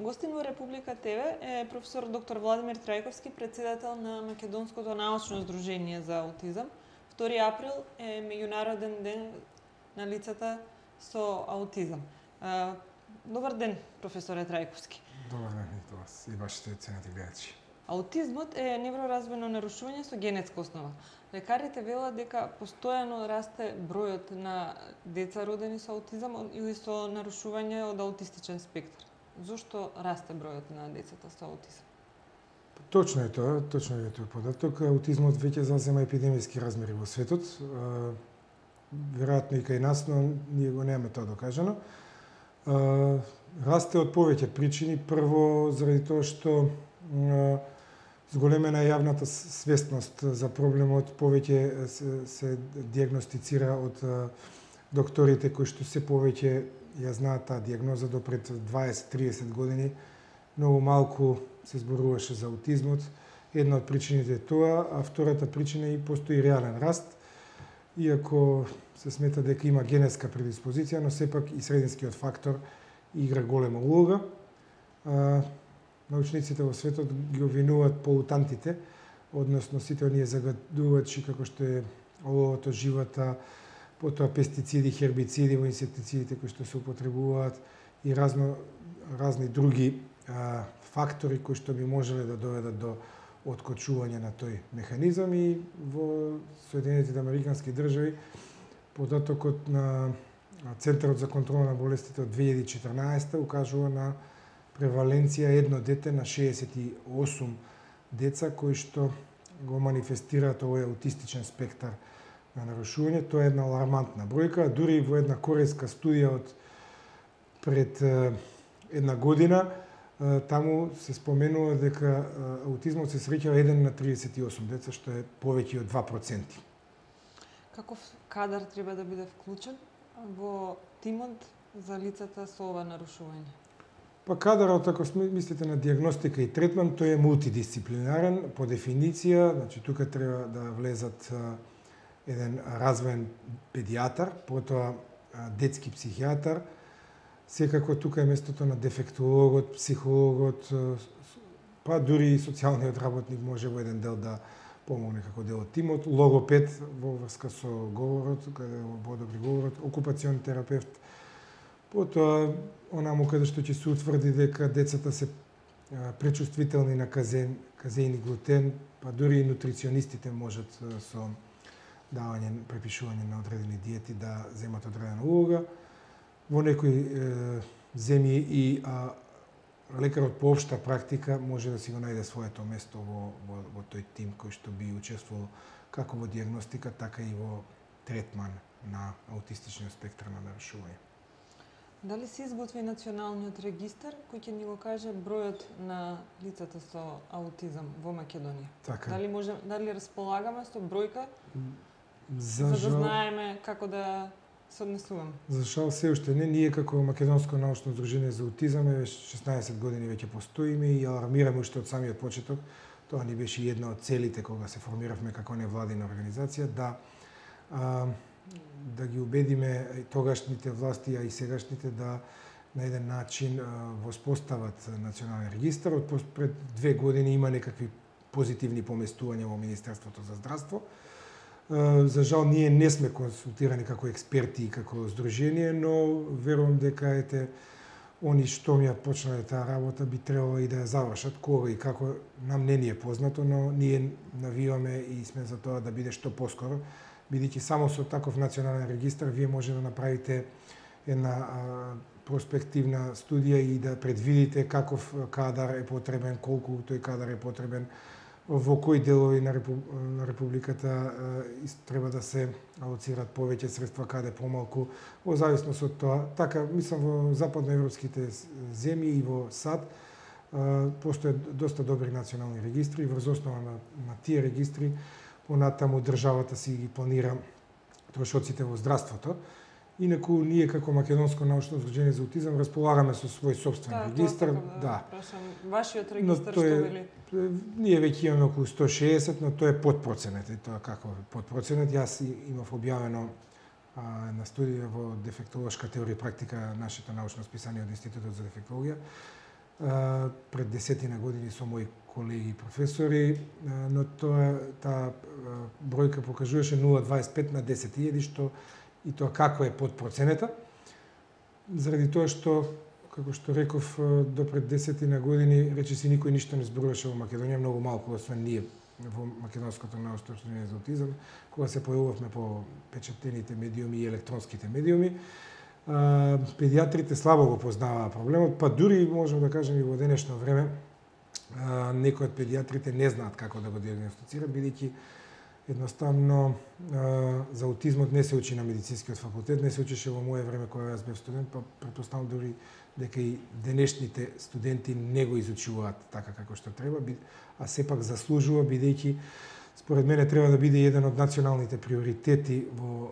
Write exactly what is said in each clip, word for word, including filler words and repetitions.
Гостин во Република ТВ е професор доктор Владимир Трајковски, председател на Македонското научно здружение за аутизам. втори април е меѓународен ден на лицата со аутизам. Добар ден, професоре Трајковски. Добар ден и вас и вашите ценети гледачи. Аутизмот е невроразвојно нарушување со генетска основа. Лекарите велат дека постојано расте бројот на деца родени со аутизам или со нарушување од аутистичен спектар. Зошто расте бројот на децата со аутизам? Точно е тоа, точно е тој податок. Аутизмот веќе зазема епидемиски размери во светот. Веројатно и кај нас, но ние го немаме тоа докажано. Расте од повеќе причини. Прво, заради тоа што зголемена јавната свесност за проблемот, повеќе се, се диагностицира од докторите кои што се повеќе ја знаат таа диагноза. До пред дваесет до триесет години многу малку се зборуваше за аутизмот. Една од причините е тоа, а втората причина е и постои реален раст, иако се смета дека има генетска предиспозиција, но сепак и срединскиот фактор игра голема улога. Научниците во светот ги обвинуваат полутантите, односно сите оние загадувачи како што е оловото, живата, потоа пестициди, хербициди во инсектицидите кои што се употребуваат и разно, разни други а, фактори кои што би можеле да доведат до откочување на тој механизам. И во Соединетите американски држави податокот на Центарот за контрола на болестите од две илјади и четрнаесета укажува на преваленција едно дете на шеесет и осум деца кои што го манифестираат овој аутистичен спектар на нарушување. Тоа е една алармантна бројка. Дури во една корејска студија од пред една година, таму се споменува дека аутизмот се среќава еден на триесет и осум деца, што е повеќе од два проценти. Каков кадар треба да биде вклучен во тимот за лицата со ова нарушување? Па кадарот, ако мислите на диагностика и третман, тој е мултидисциплинарен по дефиниција. Значи, тука треба да влезат еден развоен педијатар, потоа детски психијатар. Секако тука е местото на дефектологот, психологот, па дури и социјалниот работник може во еден дел да помогне како дел од тимот. Логопед во врска со говорот, каде во добри говорот, окупацион терапевт. Потоа, онаму каде што ќе се утврди дека децата се пречувствителни на казеин, казеин и глутен, па дури и нутриционистите можат со давање, препишување на одредени диети да земат одредена улога. Во некои е, земји и а, лекарот по општа практика може да си го најде своето место во, во, во тој тим кој што би учествувал како во диагностика, така и во третман на аутистичниот спектар на нарушување. Дали се изготви националниот регистар кој ќе ни го каже бројот на лицата со аутизам во Македонија? Така. Дали може, дали располагаме со бројка За, за жал, да знаеме како да се однесуваме? За жал се уште не. Ние како Македонско научно здружение за аутизам шеснаесет години веќе постоиме и алармираме уште од самиот почеток. Тоа ни беше една од целите кога се формиравме како невладина организација, да а, да ги убедиме тогашните власти, а и сегашните да на еден начин воспостават национален регистар. Од пред две години има некакви позитивни поместувања во Министерството за здравство. За жал ние не сме консултирани како експерти и како здружение, но верувам дека ете они што ми ја почнале таа работа би требало и да ја завршат. Кога и како нам не ни е познато, но ние навиваме и сме за тоа да биде што поскоро, бидејќи само со таков национален регистар вие може да направите една а, проспективна студија и да предвидите каков кадар е потребен, колку тој кадар е потребен, во кои делови на, репу... на Републиката а, треба да се алоцират повеќе средства, каде помалку, во зависност од тоа. Така, мислам, во западноевропските земји и во САД а, постојат доста добри национални регистри и врз основа на, на тие регистри понатаму државата си ги планира трошоците во здравството. Инаку ние како Македонско научно здружение за аутизам располагаме со свој собствен да, регистар. Да, да. Прашам, вашиот регистар што вели? Ние веќе имаме околу сто шеесет, но тоа е подпроценет. И тоа како подпроценет? Јас имав објавено а, на студија во дефектолошка теорија и практика нашето научно списание од Институтот за дефектологија. пред десетина години со мои колеги и професори, но тоа таа бројка покажуваше нула целу дваесет и пет на десет илјади, што и тоа како е под проценета, заради тоа што, како што реков, до пред десетина години речиси никој ништо не зборуваше во Македонија, многу малку, освен ние во Македонското научно здружение за аутизам, кога се појавувавме по печатените медиуми и електронските медиуми. Педиатрите слабо го познаваа проблемот, па дури можам да кажем и во денешно време некои од педиатрите не знаат како да го диагностицираат, бидејќи едноставно за аутизмот не се учи на медицинскиот факултет, не се учише во мое време кога јас бев студент, па претпоставам дури дека и денешните студенти не го изучуваат така како што треба, а сепак заслужува, бидејќи според мене треба да биде еден од националните приоритети во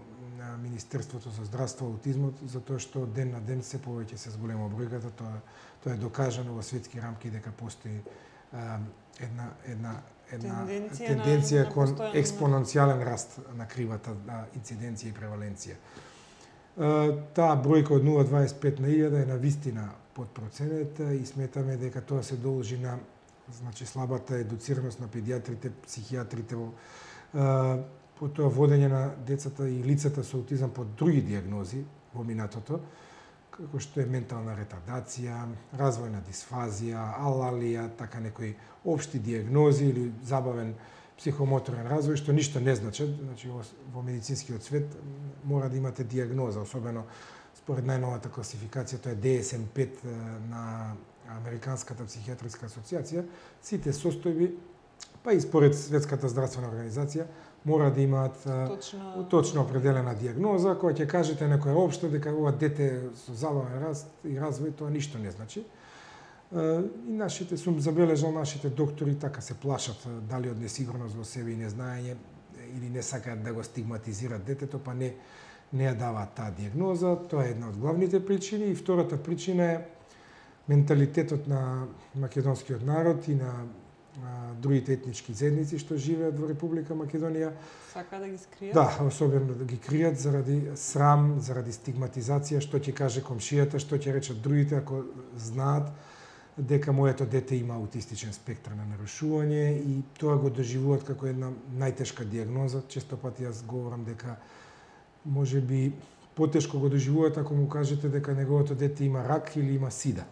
Министерството за здравство аутизмот, затоа што ден на ден се повеќе се зголема бројката, тоа тоа е докажано во светски рамки дека постои а, една една една тенденција, тенденција на, кон на експоненцијален раст на кривата на инциденција и преваленција. А, таа бројка од нула целу дваесет и пет на илјада е на вистина под проценета и сметаме дека тоа се должи на значи слабата едуцираност на педиатрите, психијатрите во потоа водење на децата и лицата со аутизам под други диагнози во минатото, како што е ментална ретардација, развојна дисфазија, алалија, така некои општи диагнози или забавен психомоторен развој, што ништо не значат. Значи, во медицинскиот свет мора да имате диагноза, особено според најновата класификација, тоа е Д С М пет на Американската психијатриска асоциација, сите состојби, па и според Светската здравствена организација, мора да имаат точно, точно определена диагноза, која ќе кажете некоја општа дека ова дете со забавен раст и развој, тоа ништо не значи. И нашите, сум забележал, нашите доктори така се плашат дали од несигурност во себе и незнаење или не сакаат да го стигматизираат детето, па не не ја даваат таа диагноза. Тоа е една од главните причини и втората причина е менталитетот на македонскиот народ и на другите етнички заедници што живеат во Република Македонија. Сака да ги скријат? Да, особено да ги кријат заради срам, заради стигматизација, што ќе каже комшијата, што ќе речат другите ако знаат дека моето дете има аутистичен спектар на нарушување и тоа го доживуваат како една најтешка диагноза. Често пати јас говорам дека можеби потешко го доживуваат ако му кажете дека неговото дете има рак или има сида.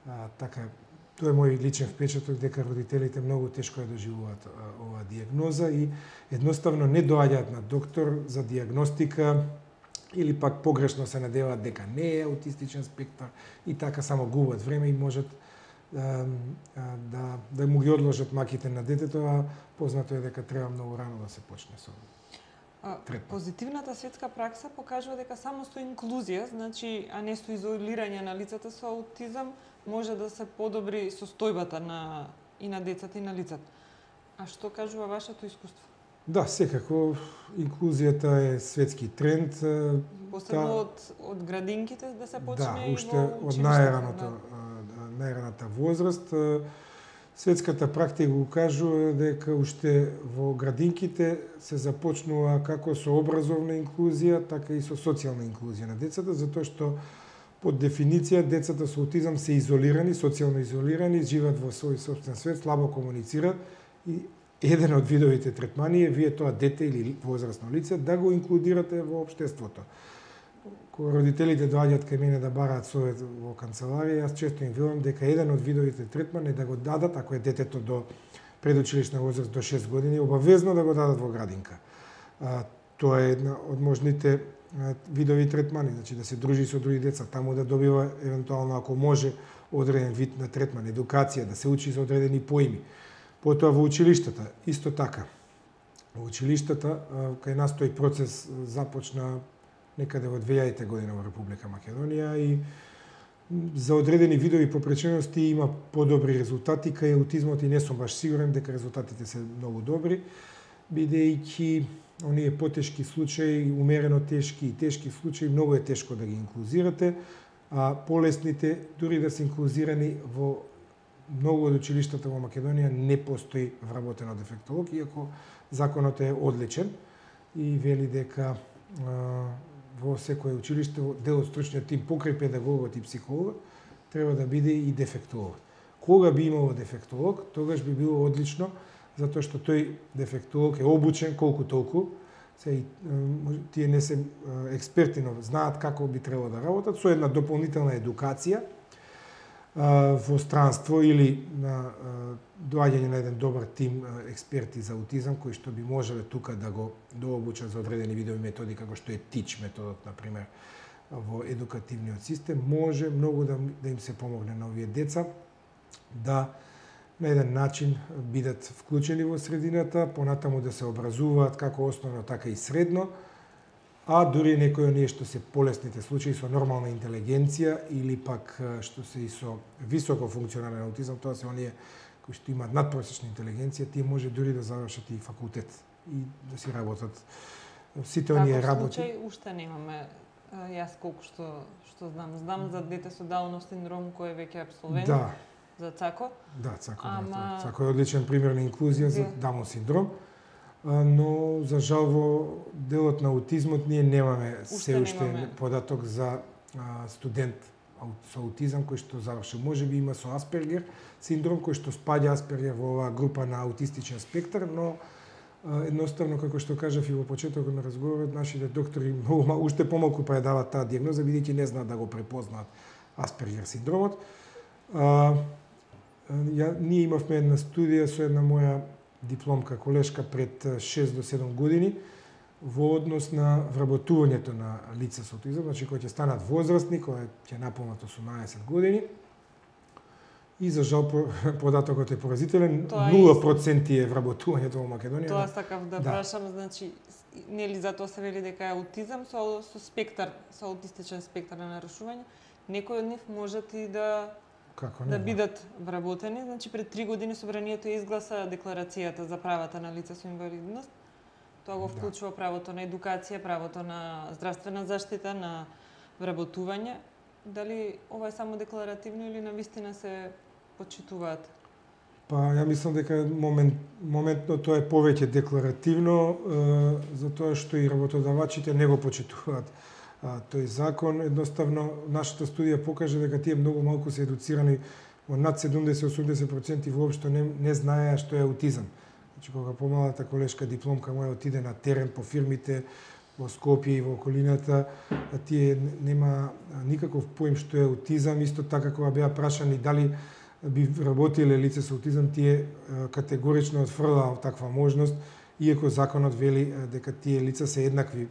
А, така Тоа е мој личен впечаток дека родителите многу тешко ја доживуваат оваа диагноза и едноставно не доаѓаат на доктор за диагностика или пак погрешно се надеваат дека не е аутистичен спектар и така само губат време и можат да, да, да му ги одложат маките на детето, а познато е дека треба многу рано да се почне со третман. Позитивната светска пракса покажува дека само со инклузија, значи, а не со изолирање на лицата со аутизам, може да се подобри состојбата на и на децата и на лицата. А што кажува вашето искуство? Да, секако инклузијата е светски тренд. Посебно та... од од градинките да се почне да, и уште во од најраното да. најраната возраст. Светската практика го кажува дека уште во градинките се започнува како со образовна инклузија, така и со социјална инклузија на децата, затоа што под дефиниција децата со аутизам се изолирани, социјално изолирани, живеат во свој собствен свет, слабо комуницираат и еден од видовите третмани е вие тоа дете или возрастно лице да го инклудирате во општеството. Кога родителите доаѓаат кај мене да бараат совет во канцеларија, јас често им велам дека еден од видовите третмани е да го дадат, ако е детето до предучилишна возраст до шест години, обавезно да го дадат во градинка. А, тоа е една од можните видови третмани, значи да се дружи со други деца, таму да добива евентуално ако може одреден вид на третман, едукација, да се учи за одредени поими. Потоа во училиштата исто така. Во училиштата кај нас тој процес започна некаде во две илјадите година во Република Македонија и за одредени видови попречености има подобри резултати, кај аутизмот и не сум баш сигурен дека резултатите се многу добри, бидејќи оние потешки случаи, умерено тешки и тешки случаи, многу е тешко да ги инклузирате, а полесните, дури да се инклузирани во многу од училиштата во Македонија не постои вработено дефектолог, иако законот е одличен и вели дека а, во секое училиште дел од стручниот тим покрај педагогот и психологот треба да биде и дефектолог. Кога би имало дефектолог, тогаш би било одлично, затоа што тој дефектолог е обучен колку толку, се тие не се експерти, но знаат како би требало да работат, со една дополнителна едукација во странство или на доаѓање на еден добар тим експерти за аутизам кои што би можеле тука да го дообучат за одредени видови методи како што е ТИЧ методот на пример во едукативниот систем, може многу да, да им се помогне на овие деца да на еден начин бидат вклучени во средината, понатаму да се образуваат како основно така и средно, а дури некои оние што се полесните случаи со нормална интелигенција или пак што се и со високо функционален аутизам, тоа се оние кои што имаат надпросечна интелигенција, тие може дури да завршат и факултет и да си работат. Сите оние работи. Таков случај уште немаме. Јас колку што што знам, знам за дете со Даунов синдром кој е веќе абсолвент. Да. За ЦАКО. Да, ЦАКО. Ама... Да, ЦАКО е одличен пример на инклузија за Даунов синдром. Но за жал во делот на аутизмот ние немаме уште се уште немаме податок за а, студент со аутизам кој што завршил. Може би има со Аспергер синдром кој што спаѓа Аспергер во оваа група на аутистичен спектар, но а, едноставно како што кажав и во почетокот на разговорот, нашите доктори многу уште помалку предаваат таа дијагноза бидејќи не знаат да го препознаат Аспергер синдромот. А, ја, ние имавме една студија со една моја дипломка колешка пред шест до седум години во однос на вработувањето на лица со аутизам, значи кои ќе станат возрастни, кои ќе наполнат осумнаесет години. И за жал податокот е поразителен, нула проценти е вработувањето во Македонија. Тоа сакав да, да прашам, значи нели затоа се вели дека е аутизам со со спектар, со аутистичен спектар на нарушување, некои од нив можат и да Како не, да бидат вработени. Значи пред три години собранието изгласа декларацијата за правата на лица со инвалидност. Тоа го вклучува правото на едукација, правото на здравствена заштита, на вработување. Дали ова е само декларативно или навистина се почитуваат? Па ја мислам дека момент, моментно тоа е повеќе декларативно, е, затоа што и работодавачите не го почитуваат А, тој закон. Едноставно нашата студија покажа дека тие многу малку се едуцирани, во над седумдесет до осумдесет проценти воопшто не, не знаеа што е аутизам. Значи кога помалата колешка дипломка моја отиде на терен по фирмите во Скопје и во околината, тие нема никаков поим што е аутизам, исто така кога беа прашани дали би работиле лице со аутизам, тие категорично отфрлаа таква можност, иако законот вели дека тие лица се еднакви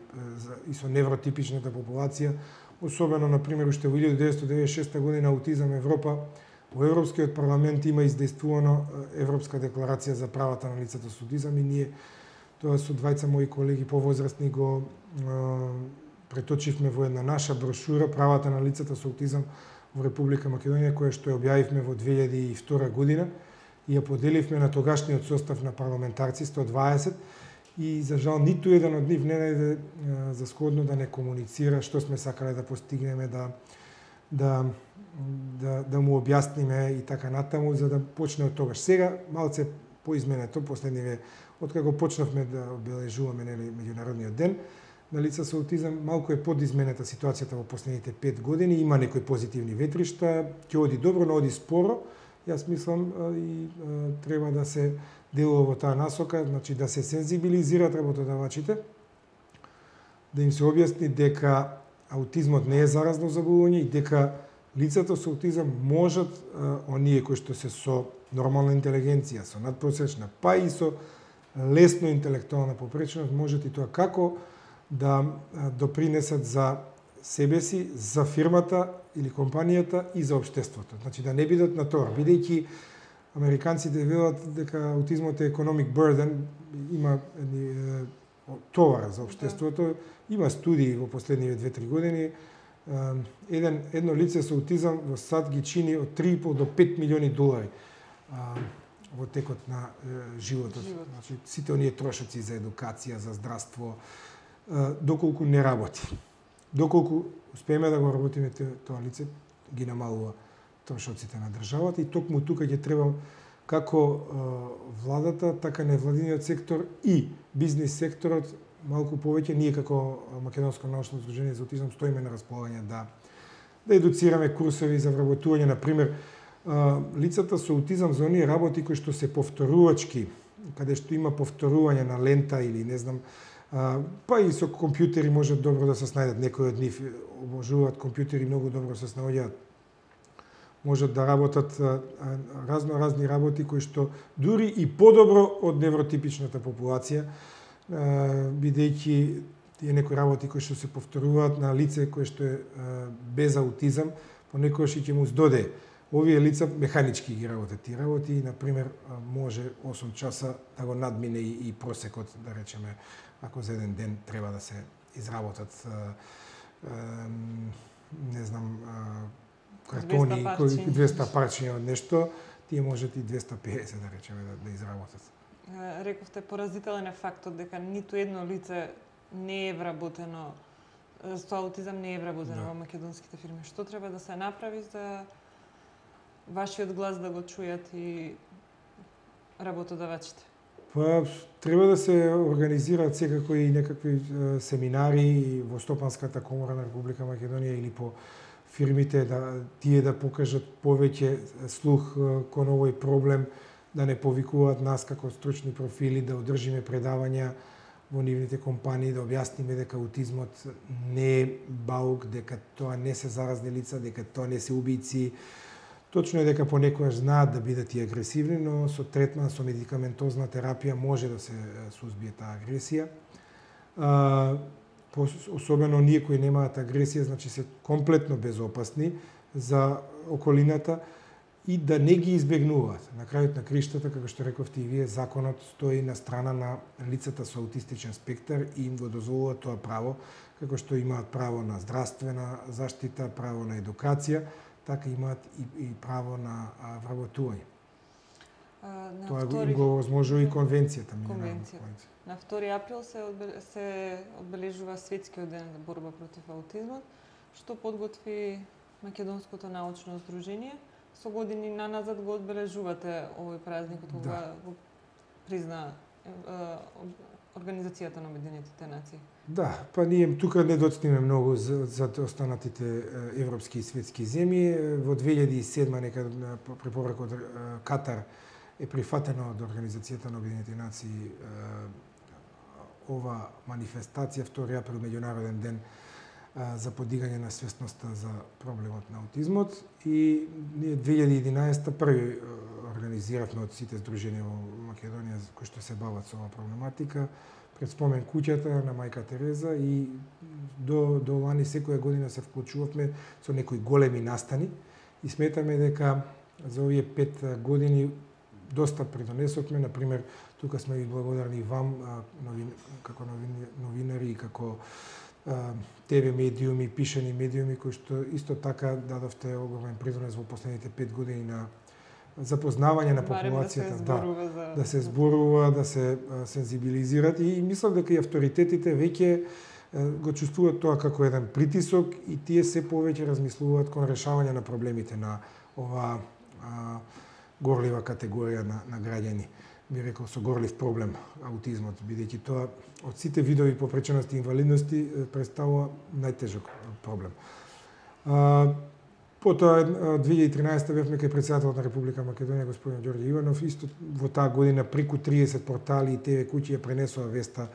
и со невротипичната популација, особено на пример уште во илјада деветстотини деветдесет и шеста година аутизам Европа, во Европскиот парламент има издействувано Европска декларација за правата на лицата со аутизам и ние тоа со двајца мои колеги повозрастни го преточивме во една наша брошура правата на лицата со аутизам во Република Македонија, која што ја објавивме во две илјади и втора година и ја поделивме на тогашниот состав на парламентарци сто дваесет и за жал ниту еден од нив не најде за сходно да не комуницира што сме сакале да постигнеме, да да да да му објасниме и така натаму за да почне од тогаш. Сега малце поизменето последниве откако почнавме да обележуваме нели меѓународниот ден на лица со аутизам, малку е подизменета ситуацијата во последните пет години, има некои позитивни ветришта, ќе оди добро, но оди споро. Јас мислам и треба да се делува во таа насока, значи да се сензибилизираат работодавачите, да им се објасни дека аутизмот не е заразно заболување и дека лицата со аутизам можат, оние кои што се со нормална интелигенција, со надпросечна, па и со лесно интелектуална попреченост, можат и тоа како да допринесат за себе си, за фирмата или компанијата и за општеството. Значи да не бидат на тоа, бидејќи американците велат дека аутизмот е economic burden, има едни товар за општеството. Има студии во последниве две-три години. Еден, едно лице со аутизам во САД ги чини од три и пол до пет милиони долари во текот на животот. Живот. Значи, сите оние трошоци за едукација, за здравство, доколку не работи. Доколку успееме да го работиме тоа лице, ги намалува трошоците на државата и токму тука ќе треба како владата, така невладиниот сектор и бизнис секторот малку повеќе. Ние како Македонско научно здружение за аутизам стоиме на располагање да да едуцираме курсови за вработување, на пример, лицата со аутизам за оние работи кои што се повторувачки, каде што има повторување на лента или не знам, па и со компјутери можат добро да се снајдат, некои од нив обожуваат компјутери, многу добро се снаоѓаат. Можат да работат разно разни работи кои што дури и подобро од невротипичната популација, бидејќи тие некои работи кои што се повторуваат на лице кое што е без аутизам, понекогаш и ќе му здоде. Овие лица механички ги работат тие работи и, например, може осум часа да го надмине и просекот, да речеме, ако за еден ден треба да се изработат, не знам, картони, двеста парчиња од нешто, тие можат и двеста педесет, да речеме, да, да изработат. Рековте, поразителен е фактот дека ниту едно лице не е вработено, со аутизам не е вработено да. во македонските фирми. Што треба да се направи за вашиот глас да го чујат и работодавачите? Па, треба да се организираат секако и некакви семинари во Стопанската комора на Република Македонија или по фирмите, да тие да покажат повеќе слух кон овој проблем, да не повикуваат нас како стручни профили, да одржиме предавања во нивните компании, да објасниме дека аутизмот не е баук, дека тоа не се заразни лица, дека тоа не се убици. Точно е дека понекогаш знаат да бидат и агресивни, но со третман, со медикаментозна терапија може да се сузбие таа агресија. А, особено ние кои немаат агресија, значи се комплетно безопасни за околината и да не ги избегнуваат. На крајот на криштата, како што рековте и вие, законот стои на страна на лицата со аутистичен спектар и им го дозволува тоа право, како што имаат право на здравствена заштита, право на едукација, така имаат и, и право на а, вработување. На Тоа втори... го возможува и конвенцијата. Конвенцијата. На втори април се, одбел... се одбележува Светскиот ден за борба против аутизмот, што подготви Македонското научно здружение. Со години наназад го одбележувате овој празник, кога да. го призна е, е, Организацијата на Обединетите нации. Да, па ние тука не доцниме многу за, за останатите европски и светски земји. Во две илјади и седма некад на препорака од Катар е прифатено од Организацијата на Обединетите нации ова манифестација, втори април, меѓународен ден за подигање на свесноста за проблемот на аутизмот, и ние две илјади и единаесетта први организиравме од сите здруженија во Македонија кои што се бават со оваа проблематика пред спомен куќата на мајка Тереза, и до до лани секоја година се вклучувавме со некои големи настани и сметаме дека за овие пет години доста придонесовме. На пример, тука сме ви благодарни вам новин, како новин, новинари и како те ве медиуми, пишани медиуми, кои што исто така дадовте огромен придонес во последните пет години на запознавање на популацијата, да, за... да се зборува, да се сензибилизират, и мислам дека и авторитетите веќе го чувствуваат тоа како еден притисок и тие се повеќе размислуваат кон решавање на проблемите на ова а, горлива категорија на, на граѓани. Би рекол со горлив проблем аутизмот, бидејќи тоа од сите видови попречености и инвалидности представува најтежок проблем. А, Потоа, две илјади и тринаесетта бевме кај председателот на Република Македонија, господин Ѓорѓе Иванов. Исто во таа година преку триесет портали и те ве куќи ја пренесува веста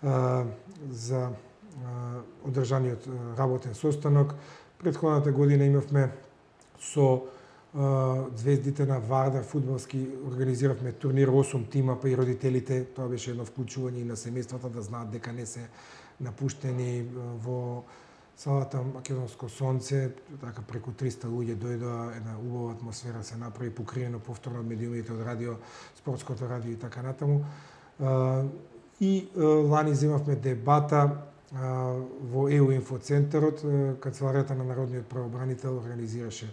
а, за а, одржаниот работен состанок. Претходната година имавме со а, звездите на Вардар фудбалски, организиравме турнир осум тима, па и родителите, тоа беше едно вклучување и на семејствата да знаат дека не се напуштени во салата Македонско сонце, така преку триста луѓе дојдоа, една убава атмосфера се направи, покриено повторно од медиумите, од радио, спортското радио и така натаму. И лани земавме дебата во ЕУ инфоцентарот, канцеларијата на Народниот правобранител организираше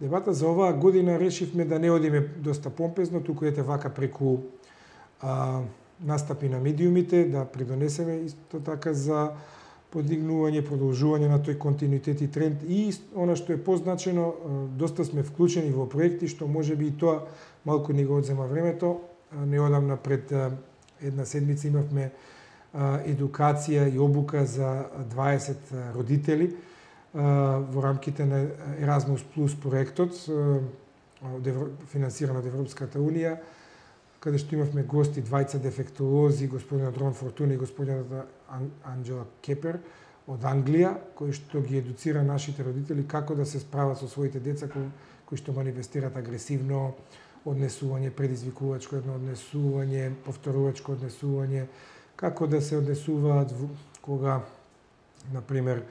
дебата. За оваа година решивме да не одиме доста помпезно, туку ете вака преку настапи на медиумите, да придонесеме исто така за подигнување, продолжување на тој континуитет и тренд, и она што е позначено, доста сме вклучени во проекти што можеби и тоа малку ни го одзема времето. Неодамна пред една седмица имавме едукација и обука за дваесет родители во рамките на Erasmus Plus проектот, финансиран од Европската Унија, каде што имавме гости, двајца дефектолози, господинот Рон Фортуна и господинот Анджела Кепер од Англија, кои што ги едуцира нашите родители како да се справат со своите деца кои, кои што манифестират агресивно однесување, предизвикувачко однесување, повторувачко однесување, како да се однесуваат кога, например,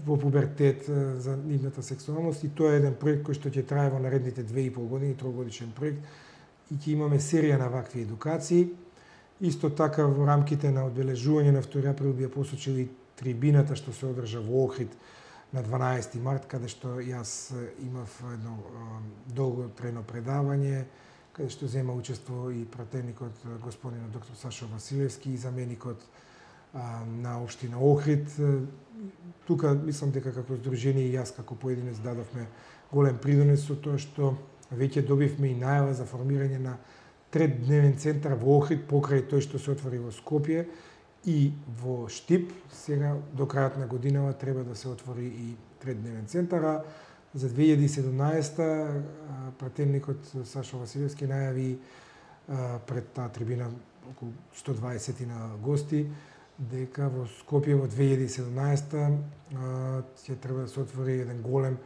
во пубертет за нивната сексуалност, и тоа е еден проект кој што ќе трае во наредните две и пол години, трогодишен проект, и ќе имаме серија на вакви едукации. Исто така во рамките на одбележување на втори април би ја посочил и трибината што се одржа во Охрид на дванаесети март, каде што јас имав едно долго трено предавање, каде што зема учество и пратеникот господинот доктор Сашо Василевски и заменикот на општина Охрид. Тука мислам дека како здружение и јас како поединец дадовме голем придонес со тоа што веќе добивме и најава за формирање на третдневен центар во Охрид покрај тој што се отвори во Скопје и во Штип. Сега до крајот на годинава треба да се отвори и третдневен центар. За две илјади и седумнаесета пратеникот Сашо Василевски најави пред таа трибина околу сто дваесет на гости дека во Скопје во две илјади и седумнаесета ќе треба да се отвори еден голем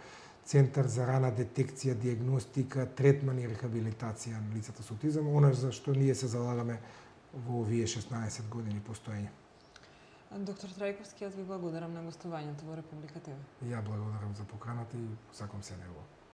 центар за рана детекција, диагностика, третман и рехабилитација на лицата со аутизам, она за што ние се залагаме во овие шеснаесет години постоење. Доктор Трајковски, јас ви благодарам на гостувањето во Република ТВ. Ја благодарам за поканата и сакам се нево.